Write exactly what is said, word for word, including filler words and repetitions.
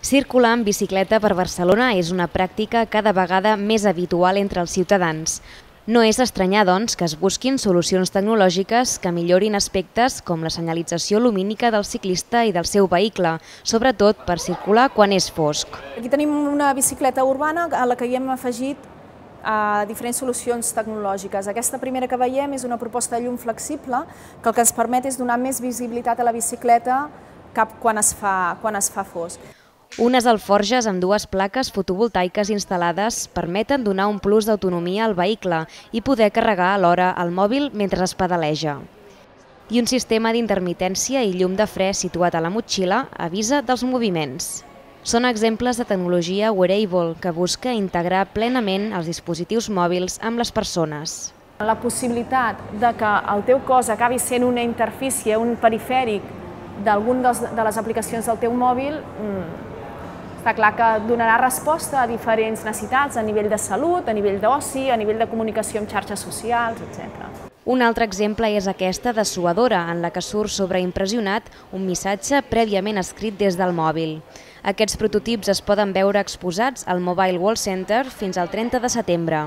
Circular en bicicleta per Barcelona és una pràctica cada vegada més habitual entre els ciutadans. No és estranyar, doncs, que es busquin solucions tecnològiques que millorin aspectes com la senyalització lumínica del ciclista i del seu vehicle, sobretot per circular quan és fosc. Aquí tenim una bicicleta urbana a la que hi hem afegit a diferents solucions tecnològiques. Aquesta primera que veiem és una proposta de llum flexible que el que ens permet és donar més visibilitat a la bicicleta cap quan es fa, quan es fa fosc. Unes alforges amb dues plaques fotovoltaiques instal·lades permeten donar un plus d'autonomia al vehicle i poder carregar alhora el mòbil mentre es pedaleja. I un sistema d'intermitència i llum de fre situat a la motxilla avisa dels moviments. Són exemples de tecnologia wearable que busca integrar plenament els dispositius mòbils amb les persones. La possibilitat de que el teu cos acabi sent una interfície, un perifèric d'alguna de les aplicacions del teu mòbil, està clar que donarà resposta a diferents necessitats a nivell de salut, a nivell d'oci, a nivell de comunicació amb xarxes socials, etcètera. Un altre exemple és aquesta dessuadora, en la que surt sobreimpressionat un missatge prèviament escrit des del mòbil. Aquests prototips es poden veure exposats al Mobile World Center fins al trenta de setembre.